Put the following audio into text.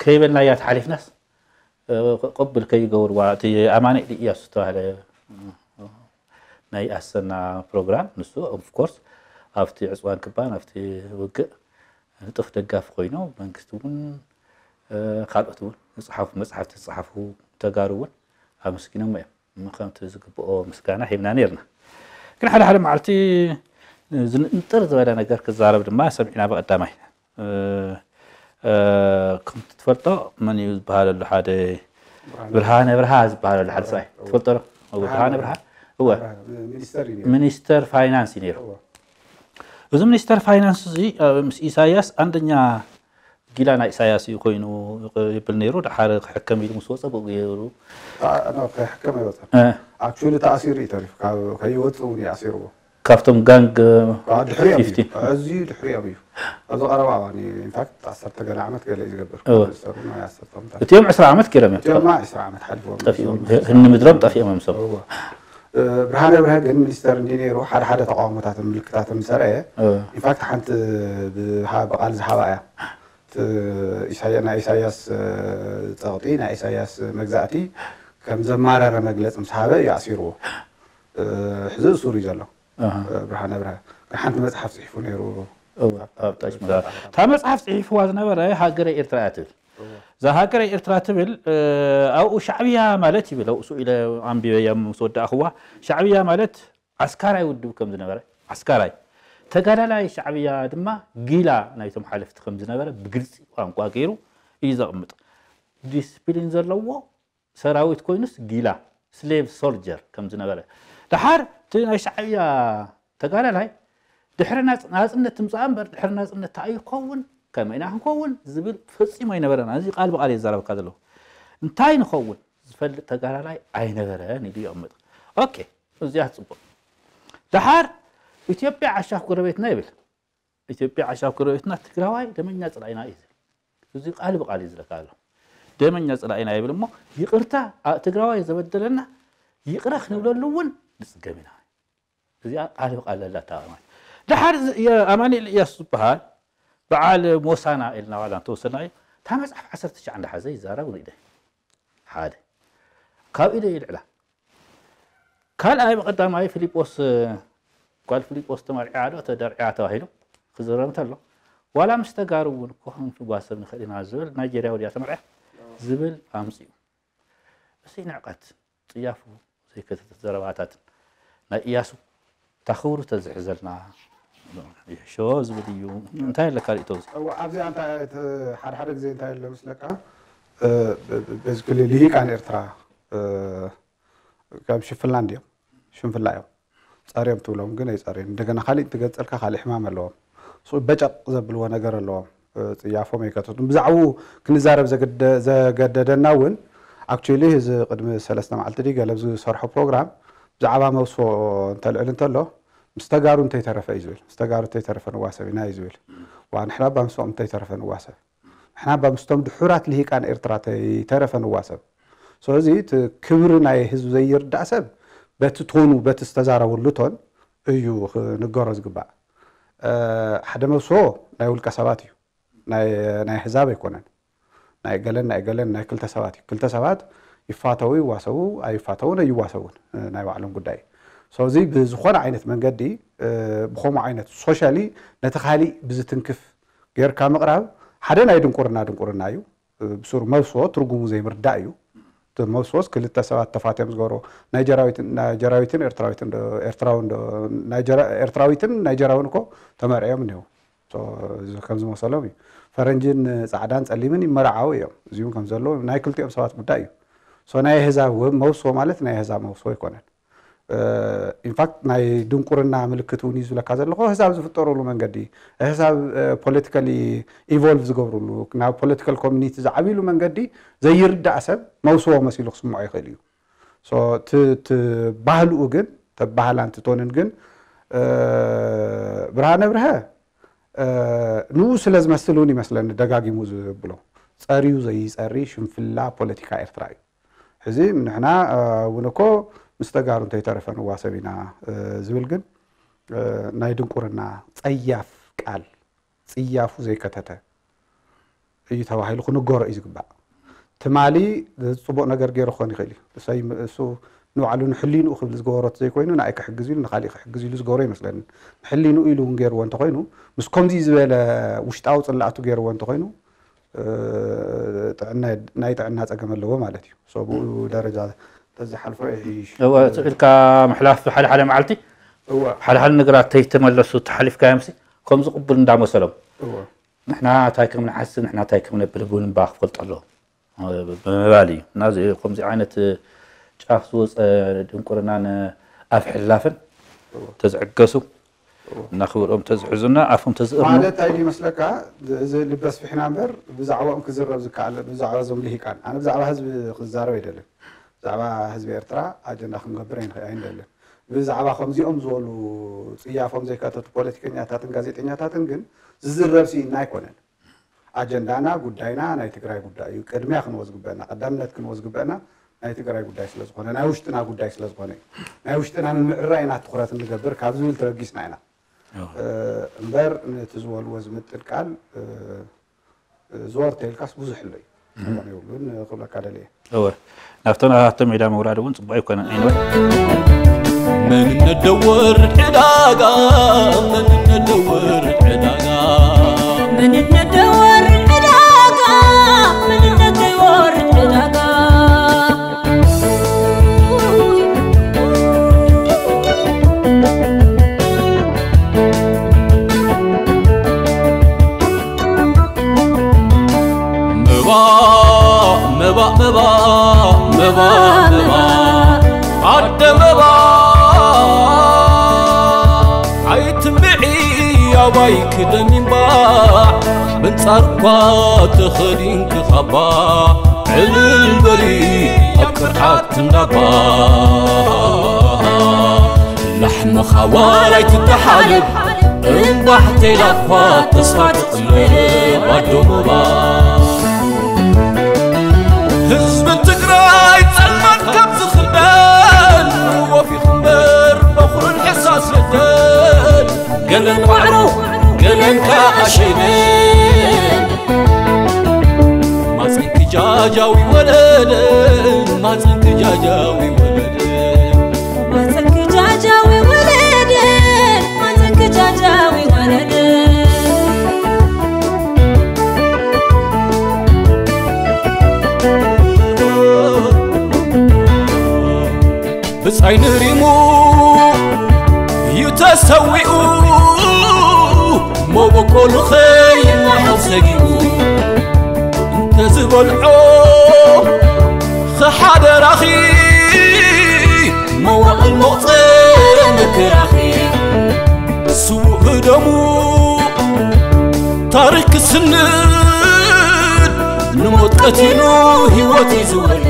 ከይበልናያ ተሓሊፍናስ፣ እ፣ ቅብል ከይገብርዋ፣ እቲ ኣማኑኤል ኢያሱ ዝተባህለ፣ እ፣ ናይ ኣሰና ፕሮግራም፣ ንሱ ኦፍ ኮርስ ኣብቲ ዕፅዋን ክባን፣ ኣብቲ ውግእ ንጡፍ ደጋፊ ኮይኑ፣ መንግስቲ እውን፣ እ፣ ካልኦት እውን ዝፀሓፉ መፅሓፍቲ ዝፀሓፉ ተጋሩ እውን ኣመስጊኖም እዮም። ከምቲ ዝግብኦ ምስጋና ሂብና ነርና። ግን ሓደ ሓደ መዓልቲ ዝንጥር ዝበለ ነገር ክዛረብ ድማ ሰሚዕና። ብቐዳማይ፣ እ፣ እ፣ ከምቲ ትፈልጦ፣ መን እዩ ዝበሃል ኣሎ? ሓደ ብርሃነ። ብርሃነ ብርሃ ዝበሃል ኣሎ ሓደ ሰብኣይ። እወ። ትፈልጦ ዶ? እወ፣ ብርሃነ ብርሃነ ብርሃ። እወ። ብርሃነ፣ ሚኒስተር እዩ ነይሩ። ሚኒስተር ፋይናንስ እዩ ነይሩ። እወ። እዚ ሚኒስተር ፋይናንስ እዚ፣ እ፣ ምስ ኢሳያስ ኣንደኛ ጊላ ናይ ኢሳያስ እዩ ኮይኑ ይብል ነይሩ። ደሓር ክሕከም ኢሉ ምስ ወጸ ብኡ ገይሩ። አ፣ ኖ፣ ክሕከም ኣይወጸን። እ። ኣክቹዋሊ ተኣሲሩ እዩ ተሪፉ። ካብ ከይወጽእ እውን እዩ ኣሲርዎ። ካብቶም ጋንግ አ፣ ድሕሪኦም እዩ። ፊፍቲ። ኣዝዩ ድሕሪኦም እዩ። ኣብዚ ቀረባ እዋን እዩ። ኢንፋክት ዓሰርተ ገለ ዓመት ገለ እዩ ዝገብር። እወ። ዝሰሩ ናይ ዓሰርተ ዓመታት። እቲኦም ዕስራ ዓመት ገይሮም እዮም። እቲኦም ዕስራ ዓመት ሓሊፎም ጠፊኦም። እዮም። ህኒ ምድሮም ጠፊኦም እዮም ሰብ። እወ። እ፣ ብርሃነ ብርሀ ግን ሚኒስተር እንዲ ነይሩ ሓደ ሓደ ተቃውሞታትን ምልክታትን ምስ ኣርኣየ፣ እወ። ኢንፋክት ሓንቲ ብሃ-፣ ብቃል ዝሃባ እያ። እቲ ኢሳያ-፣ ናይ ኢሳያስ፣ እ፣ ጸቕጢ፣ ናይ ኢሳያስ መግዛእቲ ከም ዘማረረ መግለጺ ምስ ሃበ እዩ ኣሲርዎ። እ፣ ሕዚ እሱር እዩ ዘሎ። ኣሃ። እ፣ ብርሃነ ብርሀ። ግን ሓንቲ መጽሓፍ ጽሒፉ ነይሩ። እወ፣ ኣብ ታች መጽሓፍ። እታ መጽሓፍ ጽሒፍዋ ዝነበረ ሃገረ ኤርትራ እያ ትብል። እወ። እዛ ሃገረ ኤርትራ ትብል፣ እ፣ ኣብኡ ሻዕብያ ማለት ይብል፣ ኣብኡ ስኡ ኢለ ኣንቢበያ ምስ ወዳእኽዋ፣ ሻዕብያ ማለት ዓስካራይ ውድብ ከም ዝነበረ፣ ዓስካራይ ተጋዳላይ ሻዕብያ ድማ ጊላ ናይቶም ሓለፍቲ ከም ዝነበረ ብግልጺ ቋንቋ ገይሩ እዩ ዘቕምጥ። ዲስፕሊን ዘለዎ ሰራዊት ኮይኑስ ጊላ፣ ስሌቭ ሶልጀር ከም ዝነበረ። ደሓር እቲ ናይ ሻዕብያ ተጋዳላይ ድሕሪ ናጽ-፣ ናጽነት ትምጻእ እምበር ድሕሪ ናጽነት እንታይ እዩ ክኸውን፣ ከመይ ኢና ክንከውን ዝብል ፈጺሙ ኣይነበረን። እዚ ቃል ብቃል እየ ዝዛረበካ ዘለኹ። እንታይ ንኸውን ዝፈልጥ ተጋዳላይ ኣይነበረን ኢሉ ይቕምጥ። ኦኬ፣ እዚኣ ጽቡቕ። ደሓር ኢትዮጵያ ዓሻፍ ጎረቤትና ይብል። ኢትዮጵያ ዓሻፍ ጎረቤትና፣ ትግራዋይ ደመኛ ጽላኢና እዩ ዝብል። እዚ ቃል ብቃል እዩ ዝለካ ኣሎ። ደመኛ ጽላኢና ይብል እሞ፣ ይቕርታ፣ ኣ-፣ ትግራዋይ ዘበደለና ይቕረ ክንብለሉ እውን ንጽገም ኢና። እዚኣ ቃል ብቃል ዘላ እታ ማለት። ደሓር ዝ-፣ የ-፣ ኣማኑኤል ኢያሱ ዝበሃል በዓል ሞሳና ኢልና ዋላ እንተወሰድናዮ፣ እታ መጽሓፍ ዓሰርተ ትሽዓተ እንዳሓዘ ይዛረብ ንኢደ። ሓደ። ካብ ኢደ ይልዕላ። ካልኣይ ብቐዳማይ ፊልጶስ፣ ጓል ፊልጶስ ተመርዒያ ዶ ተደርዒያ ተባሂሉ ክዝረብ እንተሎ፣ ዋላ ምስ ተጋሩ እውን እኮ ክንጓሰብ ንኽእል ኢና ዝብል ናይጀርያዊ ድያ ተመርዒያ ዝብል ኣምፅኡ። እዚ ንዕቀት፣ ጽያፉ ዘይከተተ ዘረባታትን ናይ ኢያሱ እታ ክብሩ ተዝሕዘልና ይሕሾ ዝብል እዩ። እንታይ ኣለካ ርእቶ እዚ? እዋ፣ ኣብዚኣ እንታይ እቲ ሓደ ሓደ ግዜ እንታይ ኣሎ መስለካ? እ፣ ብ-፣ ብ-፣ ቤዚካሊ ልሂቃን ኤርትራ፣ እ፣ ከም ሽፍላ እንድዮም። ሽንፍላ እዮም። ጸርዮም ትብሎም ግን ኣይጸርዩን። እንደገና ካሊእ እንትገጸልካ ካሊእ ሕማም ኣለዎም። ሱ በጨቕ ዘብልዎ ነገር ኣለዎም። እ፣ ጽያፎም ኣይከተቱን። ብዛዕባኡ ክንዛረብ ዘግደ-፣ ዘገደደና እውን፣ ኣክቹዋሊ፣ እዚ ቅድሚ ሰለስተ መዓልቲ ድዩ ገለ ዝሰርሖ ፕሮግራም፣ ብዛዕባ መውስቦ እንተልዕል እንተሎ፣ ምስ ተጋሩ እንተይተረፈ እዩ ዝብል። ምስ ተጋሩ እንተይተረፈ ንዋሰብ ኢና እዩ ዝብል። ዋ፣ ንሕና እባ ምስኦም እንተይተረፈ ንዋሰብ። ንሕና እባ ምስቶም ድሑራት ልሂቃን ኤርትራ ተይተረፈ ንዋሰብ። ስለዚ እቲ ክብሪ ናይ ህዝቢ ዘይርዳእ ሰብ በቲ ቶኑ፣ በቲ ዝተዛረበሉ ቶን እዩ ክንገሮ ዝግባእ። እ፣ ሓደ መብስቦ ናይ ውልቀ ሰባት እዩ። ናይ፣ ናይ ኣህዛብ ኣይኮነን። ናይ ገለን ናይ ገለን ናይ ክልተ ሰባት እዩ። ክልተ ሰባት ይፋተዉ ይዋሰቡ፣ ኣይፋተዉን ኣይዋሰቡን፣ እ፣ ናይ ባዕሎም ጉዳይ እዩ። ስለዚ ብዝኾነ ዓይነት መንገዲ፣ እ፣ ብኸምኡ ዓይነት ሶሻሊ ነቲ ካሊእ ብዝትንክፍ ጌርካ ምቕራብ ሓደ ናይ ድንቁርና ድንቁርና እዩ። እ፣ ብሱሩ መብስቦ ትርጉሙ ዘይምርዳእ እዩ። እቲ መብስቦስ ክልተ ሰባት ተፋትዮም ዝገብሮ፣ ናይጀራዊትን፣ ናይጀራዊትን ኤርትራዊትን ዶ፣ ኤርትራውን ዶ፣ ናይጀራ-፣ ኤርትራዊትን ናይጀራውን እኮ ተመርዕዮም እኒሄው። ሶ፣ እዚ ከም ዝመሰሎም እዩ። ፈረንጅን ጻዕዳን ጸሊምን ይመራዓው እዮም። እዚውን ከም ዘሎ ናይ ክልቲኦም ሰባት ጉዳይ እዩ። ሶ፣ ናይ ኣህዛብ ወ-፣ መውስቦ ማለት ናይ ኣህዛብ መውስቦ ኣይኮነን። እ፣ ኢንፋክት ናይ ድንቁርና ምልክት እውን እዩ ዝብለካ ዘለኹ። ኣህዛብ ዝፍጠሩሉ መንገዲ፣ ኣህዛብ፣ እ፣ ፖለቲካሊ ኢቮልቭ ዝገብሩሉ፣ ናብ ፖለቲካል ኮሚኒቲ ዝዓብይሉ መንገዲ ዘይርዳእ ሰብ መውስቦ መሲሉ ክስምዖ ይኽእል እዩ። ሶ፣ እቲ፣ እቲ ባህልኡ ግን፣ ተባህላን ትቶንን ግን፣ እ፣ ብርሃነ ብርሀ፣ እ፣ ንኡ ስለ ዝመስል እውን ይመስለኒ ደጋጊሙ ዝብሎ። ጸርዩ ዘይጸሪ ሽንፍላ ፖለቲካ ኤርትራ እዩ። ሕዚ ንሕና፣ እ፣ እውን እኮ ምስ ተጋሩ እንተይተረፈ ንዋሰብ ኢና፣ እ፣ ዝብል ግን፣ እ፣ ናይ ድንቁርና ጸያፍ ቃል፣ ጽያፉ ዘይከተተ፣ እዩ ተባሂሉ ክንገሮ እዩ ዝግባእ። ትማሊ ጽቡቕ ነገር ገይሩ ክኾን ይኽእል እዩ። እሰይ፣ እሱ ንባዕሉ ንሕሊንኡ ክብል ዝገበሮ ዘይኮይኑ፣ ንኣይ ክሕግዝ ኢሉ ንኻሊእ ክሕግዝ ኢሉ ዝገበሮ ይመስለኒ። ንሕሊንኡ ኢሉ እውን ገይርዎ እንተኾይኑ፣ ምስ ከምዚ ዝበለ ውሽጣዊ ጽላእቱ ገይርዎ እንተኾይኑ፣ እ፣ ጥዕና፣ ናይ ጥዕና ጸገም ኣለዎ ማለት እዩ። So ብኡ ደረጃ ተዝሓልፎ ይሕይሽ። እወ፣ እቲ ኢልካ ምሕላፍ ሓደ ሓደ መዓልቲ፣ እወ። ሓደ ሓደ ነገራት ተይተመለሱ ተሓሊፍካዮምሲ፣ ከምዚ ቅቡል እንዳመሰሎም። እወ። ንሕና እንታይ ከም ንሓስብ፣ ንሕና እንታይ ከም ነብል እውን እባ ክፈልጡ ኣለዎም። ብምባል እዩ። እና እዚ፣ ከምዚ ዓይነት ጫፍ ዝወፀ ድንቁርናን ኣፍ ሕላፍን እወ። ተዝዕገሱ፣ እወ። እና ክብርኦም ተዝሕዙና፣ ኣፎም ተዝእርሙ። ማለት እንታይ ይመስለካ? እዚ ልበ ስፊሕና እምበር ብዛዕባኦም ክዝረብ ዝከኣል፣ ብዛዕባ እዞም ልሂቃን። ኣነ ብዛዕባ ህዝቢ ክዛረብ ኣይደልን። ብዛዕባ ህዝቢ ኤርትራ ኣጀንዳ ክንገብር ኣይንኸ-፣ ኣይንደልን። ብዛዕባ ከምዚኦም ዝበሉ ጽያፎም ዘይካተቱ ፖለቲከኛታትን ጋዜጠኛታትን ግን ዝዝረብ ስኢና ኣይኮነን። ኣጀንዳና፣ ጉዳይና ናይ ትግራይ ጉዳይ እዩ። ቅድሚያ ክንወ ዝግበአና፣ ቀዳምነት ክንወ ዝግበአና ናይ ትግራይ ጉዳይ ስለ ዝኾነ፣ ናይ ውሽጥና ጉዳይ ስለ ዝኾነ እዩ። ናይ ውሽጥና ንምዕራይ ኢና ትኹረት እንገብር ካብ ዝብል ተበጊስና ኢና። ኣዎ። እ፣ እምበር ነቲ ዝበልዎ ዝምጥን ቃል፣ እ፣ እ፣ ዘወር ተይልካስ ብዙሕ ኣሎ እዩ። እም። ክኾን የብሉን ክብለካ ደልየ። እወ። ናብቶም፣ ናብቶም ሜዳ ምውራድ እውን ጽቡቕ ኣይኮነን። Anyway። መንነት ደወር ዕዳጋ፣ መንነት ደወር ዕዳጋ። መንነት ደወር ዕዳጋ፣ መንነት ደወር ዕዳጋ። መባእ፣ መባእ፣ መባእ፣ መባእ፣ መባእ፣ ኣደ መባእ፣ ኣይትምዒ ኣባይ ክደን እምባዕ፣ ምንጻር እኳ ተኸዲንኪ ካባ፣ ዕልል በሊ ኣብ ቅርዓት እንዳባ። ላሕምኻ ዋላ ኣይትተሓለብ፣ እምባሕ ተይላ እኳ ተስፋ ትቕለብ ኣዶ መባ። ህዝቢ ትግራይ ጸልማት ካብ ዝኽደን፣ ወፊኹ እምበር በኹርን ሕሳስ የለን። ገለን ዋዕሮ፣ ገለን ከዓ ሸይነን። ማፀንኪ ጃጃዊ ወለደ፣ ማፀንኪ ጃጃዊ ወለደ። ማፀንኪ ጃጃዊ ወለደ፣ ማፀንኪ ጃጃዊ ወለደ። ብጻይ ንሪሙ እዩ ተሰዊኡ፣ መበቆሉ ኸይመሓል ሰጊኡ፣ እንተዝበልዖ ኸሓደራኺ፣ መዋእል መቑጸሪ መከራኺ። ስዉእ ብደሙ ታሪኽ ክስንድ፣ ንሞት ቀቲሉ ህይወት እዩ ዝወልድ።